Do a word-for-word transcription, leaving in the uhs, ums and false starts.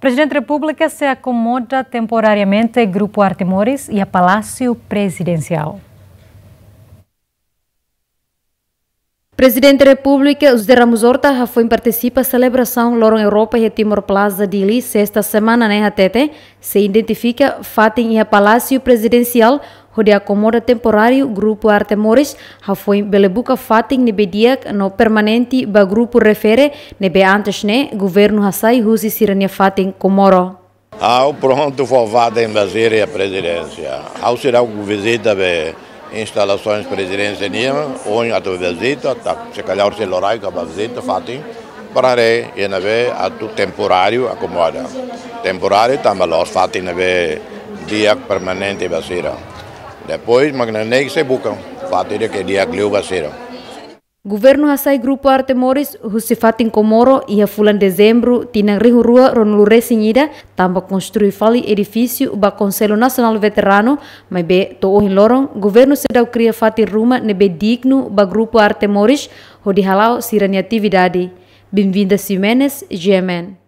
Prezidente Repúblika sei akomoda temporariamente Grupu Arte Moris iha Palásiu Prezidensiál. Prezidente Repúblika José Ramos Horta hafoin partisipa selebrasaun Loron Europa iha Timor Plaza, Dili, sesta semana ne'e hatete, sei identifika fatin iha Palásiu Prezidensiál hodi akomoda temporáriu Grupu Arte Moris, hafoin bele buka fatin ne'ebé di'ak no permanente ba grupu refere ne'ebé antes ne'e governu hasai husi sira-nia fatin Comoro. Ha'u prontu fó fatin ba sira iha prezidénsia. Ha'u seidauk vizita be instalasoens prezidénsia nian, ohin atu vizita, ta, se kalhar sei loraik ha'u bá vizita fatin, para haree iha ne'ebé atu temporáriu akomoda. Temporáriu tanba la'ós fatin ne'ebé di'ak permanente ba sira. Depois mak ne'e sei buka fatin ida ke di'ak liu ba sira. Governu hasai Grupu Arte Moris husi fatin Comoro iha fulan Dezembru tinan rihun rua ruanulu resin ida, tanba konstrui fali edifísiu ba Konsellu Nasionál Veteranu, maibé to'o ohin loron governu seidauk kria fatin ruma ne'ebé dignu ba Grupu Arte Moris hodi hala'o sira-nia atividade. Benvinda Ximenes, G M N.